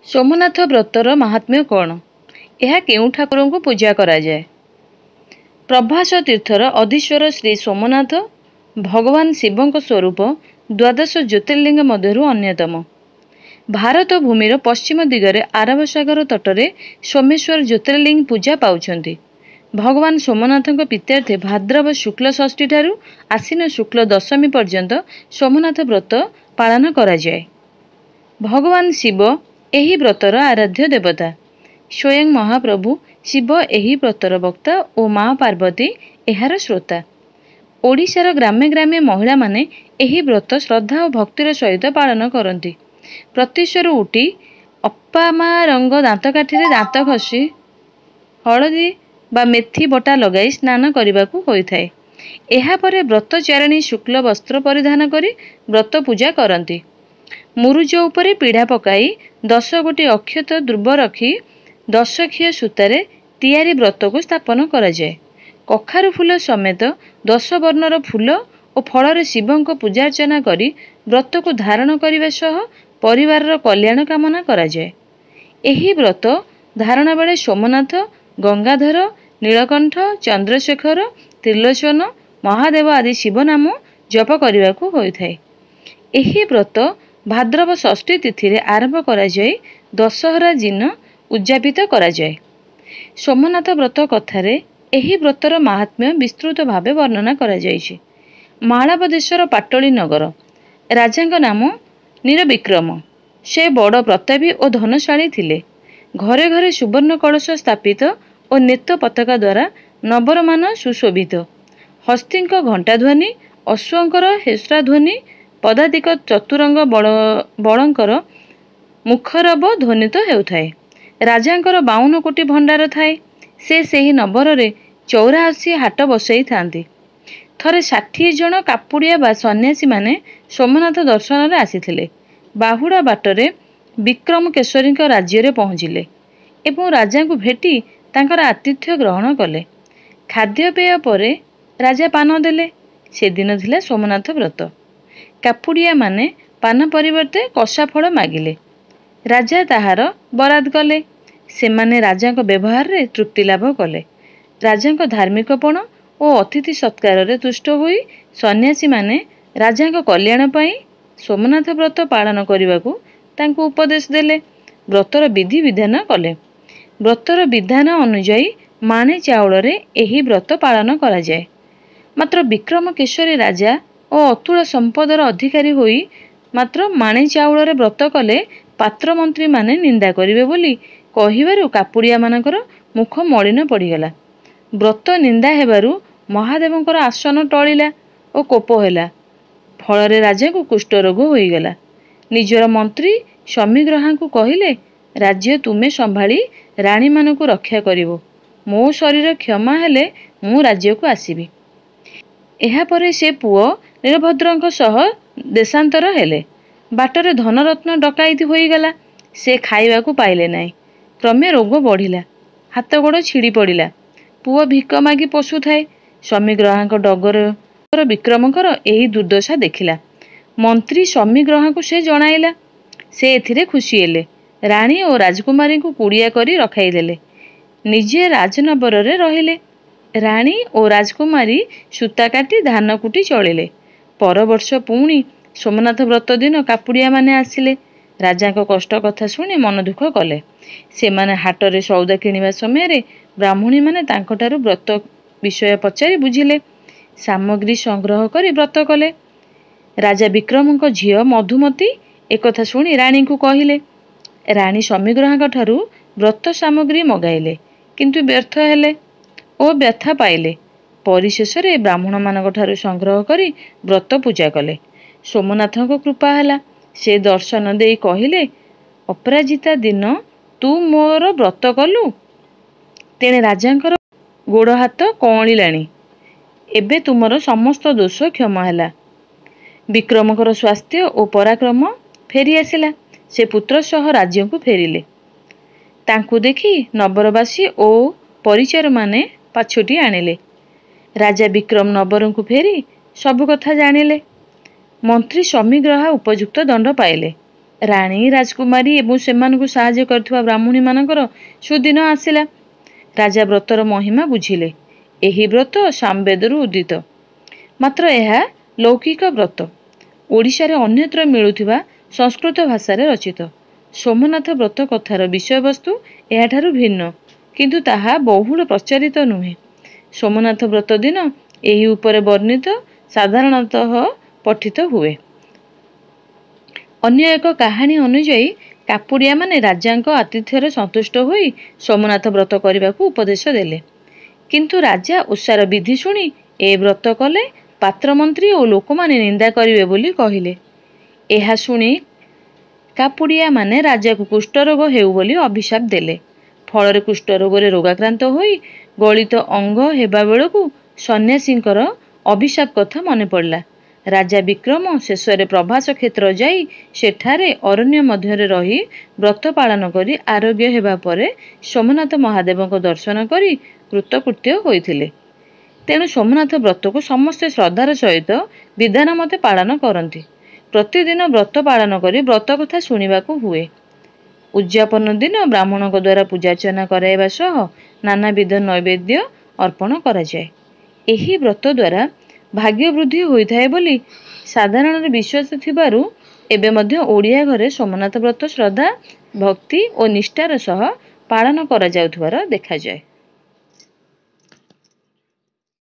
ସୋମନାଥ ବ୍ରତର ମାହାତ୍ମ୍ୟ କ'ଣ? ଏହା କେଉଁ ଠାକୁରଙ୍କୁ ପୂଜା କରାଯାଏ? ପ୍ରଭାସ ତୀର୍ଥର ଅଧୀଶ୍ୱର ଶ୍ରୀ ସୋମନାଥ ଭଗବାନ ଶିବଙ୍କ ସ୍ୱରୂପ ଦ୍ୱାଦଶ ଜ୍ୟୋତିର୍ଲିଙ୍ଗ ମଧ୍ୟରୁ ଅନ୍ୟତମ। ଭାରତ ଭୂମିର ପଶ୍ଚିମ ଦିଗରେ ଆରବ ସାଗର ତଟରେ ସୋମେଶ୍ୱର ଜ୍ୟୋତିର୍ଲିଙ୍ଗ ପୂଜା ପାଉଛନ୍ତି। ଭଗବାନ ସୋମନାଥଙ୍କ ପ୍ରୀତ୍ୟର୍ଥେ ଭାଦ୍ରବ ଶୁକ୍ଲ ଷଷ୍ଠୀଠାରୁ ଆଶ୍ୱିନ ଶୁକ୍ଲ ଦଶମୀ ପର୍ଯ୍ୟନ୍ତ ସୋମନାଥ ବ୍ରତ ପାଳନ କରାଯାଏ। ଭଗବାନ ଶିବ ଏହି ବ୍ରତର ଆରାଧ୍ୟ ଦେବତା। ସ୍ୱୟଂ ମହାପ୍ରଭୁ ଶିବ ଏହି ବ୍ରତର ବକ୍ତା ଓ ମା ପାର୍ବତୀ ଏହାର ଶ୍ରୋତା। ଓଡ଼ିଶାର ଗ୍ରାମେ ଗ୍ରାମେ ମହିଳାମାନେ ଏହି ବ୍ରତ ଶ୍ରଦ୍ଧା ଓ ଭକ୍ତିର ସହିତ ପାଳନ କରନ୍ତି। ପ୍ରତ୍ୟୁଷରୁ ଉଠି ଅପାମା ରଙ୍ଗ ଦାନ୍ତକାଠିରେ ଦାନ୍ତ ଘଷି ହଳଦୀ ବା ମେଥି ବଟା ଲଗାଇ ସ୍ନାନ କରିବାକୁ ହୋଇଥାଏ। ଏହାପରେ ବ୍ରତଚାରିଣୀ ଶୁକ୍ଲ ବସ୍ତ୍ର ପରିଧାନ କରି ବ୍ରତ ପୂଜା କରନ୍ତି। ମୁରୁଜ ଉପରେ ପିଢ଼ା ପକାଇ 10 ଗୋଟି ଅକ୍ଷତ ଦୁର୍ବ ରଖି ଦଶଖିଅ ସୂତାରେ ତିଆରି ବ୍ରତକୁ ସ୍ଥାପନ କରାଯାଏ। କଖାରୁ ଫୁଲ ସମେତ 10 ବର୍ଣ୍ଣର ଫୁଲ ଓ ଫଳରେ ଶିବଙ୍କ ପୂଜାର୍ଚ୍ଚନା କରି ବ୍ରତକୁ ଧାରଣ କରିବା ସହ ପରିବାରର କଲ୍ୟାଣ କାମନା କରାଯାଏ। ଏହି ବ୍ରତ ଧାରଣ ବେଳେ ସୋମନାଥ, ଗଙ୍ଗାଧର, ନୀଳକଣ୍ଠ, ଚନ୍ଦ୍ରଶେଖର, ତ୍ରିଲୋଚନ, ମହାଦେବ ଆଦି ଶିବ ନାମ ଜପ କରିବାକୁ ହୋଇଥାଏ। ଏହି ବ୍ରତ ଭାଦ୍ରବ ଷଷ୍ଠୀ ତିଥିରେ ଆରମ୍ଭ କରାଯାଇ ଦଶହରା ଦିନ ଉଦଯାପିତ କରାଯାଏ। ସୋମନାଥ ବ୍ରତ କଥାରେ ଏହି ବ୍ରତର ମାହାତ୍ମ୍ୟ ବିସ୍ତୃତ ଭାବେ ବର୍ଣ୍ଣନା କରାଯାଇଛି। ମାଳବ ଦେଶର ପାଟଳୀ ନଗର। ରାଜାଙ୍କ ନାମ ନୀରବିକ୍ରମ। ସେ ବଡ଼ ପ୍ରତାପୀ ଓ ଧନଶାଳୀ ଥିଲେ। ଘରେ ଘରେ ସୁବର୍ଣ୍ଣ କଳସ ସ୍ଥାପିତ ଓ ନେତ ପତାକା ଦ୍ୱାରା ନବରମାନ ସୁଶୋଭିତ। ହସ୍ତୀଙ୍କ ଘଣ୍ଟାଧ୍ୱନି, ଅଶ୍ୱଙ୍କର ହେସ୍ରାଧ୍ୱନି, ପଦାତିକ ଚତୁରଙ୍ଗ ବଳଙ୍କର ମୁଖରବ ଧ୍ୱନିତ ହେଉଥାଏ। ରାଜାଙ୍କର 52 କୋଟି ଭଣ୍ଡାର ଥାଏ। ସେ ସେହି ନବରରେ 84 ହାଟ ବସାଇଥାନ୍ତି। ଥରେ 60 ଜଣ କାପୁଡ଼ିଆ ବା ସନ୍ନ୍ୟାସୀମାନେ ସୋମନାଥ ଦର୍ଶନରେ ଆସିଥିଲେ। ବାହୁଡ଼ା ବାଟରେ ବିକ୍ରମକେଶରୀଙ୍କ ରାଜ୍ୟରେ ପହଞ୍ଚିଲେ ଏବଂ ରାଜାଙ୍କୁ ଭେଟି ତାଙ୍କର ଆତିଥ୍ୟ ଗ୍ରହଣ କଲେ। ଖାଦ୍ୟପେୟ ପରେ ରାଜା ପାନ ଦେଲେ। ସେଦିନ ଥିଲା ସୋମନାଥ ବ୍ରତ। କାପୁଡ଼ିଆମାନେ ପାନ ପରିବର୍ତ୍ତେ କଷାଫଳ ମାଗିଲେ। ରାଜା ତାହାର ବରାଦ କଲେ। ସେମାନେ ରାଜାଙ୍କ ବ୍ୟବହାରରେ ତୃପ୍ତି ଲାଭ କଲେ। ରାଜାଙ୍କ ଧାର୍ମିକପଣ ଓ ଅତିଥି ସତ୍କାରରେ ତୁଷ୍ଟ ହୋଇ ସନ୍ନ୍ୟାସୀମାନେ ରାଜାଙ୍କ କଲ୍ୟାଣ ପାଇଁ ସୋମନାଥ ବ୍ରତ ପାଳନ କରିବାକୁ ତାଙ୍କୁ ଉପଦେଶ ଦେଲେ। ବ୍ରତର ବିଧି ବିଧାନ କଲେ। ବ୍ରତର ବିଧାନ ଅନୁଯାୟୀ ମାଣେ ଚାଉଳରେ ଏହି ବ୍ରତ ପାଳନ କରାଯାଏ। ମାତ୍ର ବିକ୍ରମକେଶରୀ ରାଜା ଓ ଅତୁଳ ସମ୍ପଦର ଅଧିକାରୀ ହୋଇ ମାତ୍ର ମାଣେ ଚାଉଳରେ ବ୍ରତ କଲେ ପାତ୍ରମନ୍ତ୍ରୀମାନେ ନିନ୍ଦା କରିବେ ବୋଲି କହିବାରୁ କାପୁଡ଼ିଆମାନଙ୍କର ମୁଖ ମଳିନ ପଡ଼ିଗଲା। ବ୍ରତ ନିନ୍ଦା ହେବାରୁ ମହାଦେବଙ୍କର ଆସନ ଟଳିଲା ଓ କୋପ ହେଲା। ଫଳରେ ରାଜାଙ୍କୁ କୁଷ୍ଠରୋଗ ହୋଇଗଲା। ନିଜର ମନ୍ତ୍ରୀ ଶମିଗ୍ରହାଙ୍କୁ କହିଲେ, ରାଜ୍ୟ ତୁମେ ସମ୍ଭାଳି ରାଣୀମାନଙ୍କୁ ରକ୍ଷା କରିବ। ମୋ ଶରୀର କ୍ଷମା ହେଲେ ମୁଁ ରାଜ୍ୟକୁ ଆସିବି। ଏହାପରେ ସେ ପୁଅ ନୀଳଭଦ୍ରଙ୍କ ସହ ଦେଶାନ୍ତର ହେଲେ। ବାଟରେ ଧନରତ୍ନ ଡକାଇତି ହୋଇଗଲା। ସେ ଖାଇବାକୁ ପାଇଲେ ନାହିଁ। କ୍ରମେ ରୋଗ ବଢ଼ିଲା। ହାତ ଗୋଡ଼ ଛିଡ଼ି ପଡ଼ିଲା। ପୁଅ ଭିକ ମାଗି ପୋଷୁଥାଏ। ଶମିଗ୍ରହାଙ୍କ ଡଗର ବିକ୍ରମଙ୍କର ଏହି ଦୁର୍ଦ୍ଦଶା ଦେଖିଲା। ମନ୍ତ୍ରୀ ଶମିଗ୍ରହାଙ୍କୁ ସେ ଜଣାଇଲା। ସେ ଏଥିରେ ଖୁସି ହେଲେ। ରାଣୀ ଓ ରାଜକୁମାରୀଙ୍କୁ କୁଡ଼ିଆ କରି ରଖାଇଦେଲେ। ନିଜେ ରାଜନବରରେ ରହିଲେ। ରାଣୀ ଓ ରାଜକୁମାରୀ ସୂତା କାଟି ଧାନ କୁଟି ଚଳିଲେ। ପରବର୍ଷ ପୁଣି ସୋମନାଥ ବ୍ରତ ଦିନ କାପୁଡ଼ିଆମାନେ ଆସିଲେ। ରାଜାଙ୍କ କଷ୍ଟ କଥା ଶୁଣି ମନ ଦୁଃଖ କଲେ। ସେମାନେ ହାଟରେ ସଉଦା କିଣିବା ସମୟରେ ବ୍ରାହ୍ମଣୀମାନେ ତାଙ୍କଠାରୁ ବ୍ରତ ବିଷୟ ପଚାରି ବୁଝିଲେ। ସାମଗ୍ରୀ ସଂଗ୍ରହ କରି ବ୍ରତ କଲେ। ରାଜା ବିକ୍ରମଙ୍କ ଝିଅ ମଧୁମତୀ ଏକଥା ଶୁଣି ରାଣୀଙ୍କୁ କହିଲେ। ରାଣୀ ଶମିଗ୍ରହାଙ୍କଠାରୁ ବ୍ରତ ସାମଗ୍ରୀ ମଗାଇଲେ, କିନ୍ତୁ ବ୍ୟର୍ଥ ହେଲେ ଓ ବ୍ୟଥା ପାଇଲେ। ପରିଶେଷରେ ବ୍ରାହ୍ମଣମାନଙ୍କଠାରୁ ସଂଗ୍ରହ କରି ବ୍ରତ ପୂଜା କଲେ। ସୋମନାଥଙ୍କ କୃପା ହେଲା। ସେ ଦର୍ଶନ ଦେଇ କହିଲେ, ଅପରାଜିତା ଦିନ ତୁ ମୋର ବ୍ରତ କଲୁ, ତେଣେ ରାଜାଙ୍କର ଗୋଡ଼ ହାତ କଅଁଳିଲାଣି। ଏବେ ତୁମର ସମସ୍ତ ଦୋଷ କ୍ଷମା ହେଲା। ବିକ୍ରମଙ୍କର ସ୍ୱାସ୍ଥ୍ୟ ଓ ପରାକ୍ରମ ଫେରିଆସିଲା। ସେ ପୁତ୍ର ସହ ରାଜ୍ୟକୁ ଫେରିଲେ। ତାଙ୍କୁ ଦେଖି ନବରବାସୀ ଓ ପରିଚାରମାନେ ପାଛୋଟି ଆଣିଲେ। ରାଜା ବିକ୍ରମ ନବରଙ୍କୁ ଫେରି ସବୁ କଥା ଜାଣିଲେ। ମନ୍ତ୍ରୀ ଶମିଗ୍ରହା ଉପଯୁକ୍ତ ଦଣ୍ଡ ପାଇଲେ। ରାଣୀ, ରାଜକୁମାରୀ ଏବଂ ସେମାନଙ୍କୁ ସାହାଯ୍ୟ କରୁଥିବା ବ୍ରାହ୍ମଣୀମାନଙ୍କର ସୁଦିନ ଆସିଲା। ରାଜା ବ୍ରତର ମହିମା ବୁଝିଲେ। ଏହି ବ୍ରତ ସାମବେଦରୁ ଉଦିତ। ମାତ୍ର ଏହା ଲୌକିକ ବ୍ରତ। ଓଡ଼ିଶାରେ ଅନ୍ୟତ୍ର ମିଳୁଥିବା ସଂସ୍କୃତ ଭାଷାରେ ରଚିତ ସୋମନାଥ ବ୍ରତ କଥାର ବିଷୟବସ୍ତୁ ଏହାଠାରୁ ଭିନ୍ନ, କିନ୍ତୁ ତାହା ବହୁଳ ପ୍ରଚାରିତ ନୁହେଁ। ସୋମନାଥ ବ୍ରତ ଦିନ ଏହି ଉପରେ ବର୍ଣ୍ଣିତ ସାଧାରଣତଃ ପଠିତ ହୁଏ। ଅନ୍ୟ ଏକ କାହାଣୀ ଅନୁଯାୟୀ କାପୁଡ଼ିଆମାନେ ରାଜାଙ୍କ ଆତିଥ୍ୟରେ ସନ୍ତୁଷ୍ଟ ହୋଇ ସୋମନାଥ ବ୍ରତ କରିବାକୁ ଉପଦେଶ ଦେଲେ। କିନ୍ତୁ ରାଜା ଓଷାର ବିଧି ଶୁଣି ଏ ବ୍ରତ କଲେ ପାତ୍ରମନ୍ତ୍ରୀ ଓ ଲୋକମାନେ ନିନ୍ଦା କରିବେ ବୋଲି କହିଲେ। ଏହା ଶୁଣି କାପୁଡ଼ିଆମାନେ ରାଜାକୁ କୁଷ୍ଠରୋଗ ହେଉ ବୋଲି ଅଭିଶାପ ଦେଲେ। ଫଳରେ କୁଷ୍ଠରୋଗରେ ରୋଗାକ୍ରାନ୍ତ ହୋଇ ଗଳିତ ଅଙ୍ଗ ହେବା ବେଳକୁ ସନ୍ନ୍ୟାସୀଙ୍କର ଅଭିଶାପ କଥା ମନେପଡ଼ିଲା। ରାଜା ବିକ୍ରମ ଶେଷରେ ପ୍ରଭାସ କ୍ଷେତ୍ର ଯାଇ ସେଠାରେ ଅରଣ୍ୟ ମଧ୍ୟରେ ରହି ବ୍ରତ ପାଳନ କରି ଆରୋଗ୍ୟ ହେବା ପରେ ସୋମନାଥ ମହାଦେବଙ୍କ ଦର୍ଶନ କରି କୃତକୃତ୍ୟ ହୋଇଥିଲେ। ତେଣୁ ସୋମନାଥ ବ୍ରତକୁ ସମସ୍ତେ ଶ୍ରଦ୍ଧାର ସହିତ ବିଧାନ ମତେ ପାଳନ କରନ୍ତି। ପ୍ରତିଦିନ ବ୍ରତ ପାଳନ କରି ବ୍ରତ କଥା ଶୁଣିବାକୁ ହୁଏ। ଉଦଯାପନ ଦିନ ବ୍ରାହ୍ମଣଙ୍କ ଦ୍ୱାରା ପୂଜାର୍ଚ୍ଚନା କରାଇବା ସହ ନାନାବିଧ ନୈବେଦ୍ୟ ଅର୍ପଣ କରାଯାଏ। ଏହି ବ୍ରତ ଦ୍ୱାରା ଭାଗ୍ୟ ବୃଦ୍ଧି ହୋଇଥାଏ ବୋଲି ସାଧାରଣରେ ବିଶ୍ୱାସ ଥିବାରୁ ଏବେ ମଧ୍ୟ ଓଡ଼ିଆ ଘରେ ସୋମନାଥ ବ୍ରତ ଶ୍ରଦ୍ଧା, ଭକ୍ତି ଓ ନିଷ୍ଠାର ସହ ପାଳନ କରାଯାଉଥିବାର ଦେଖାଯାଏ।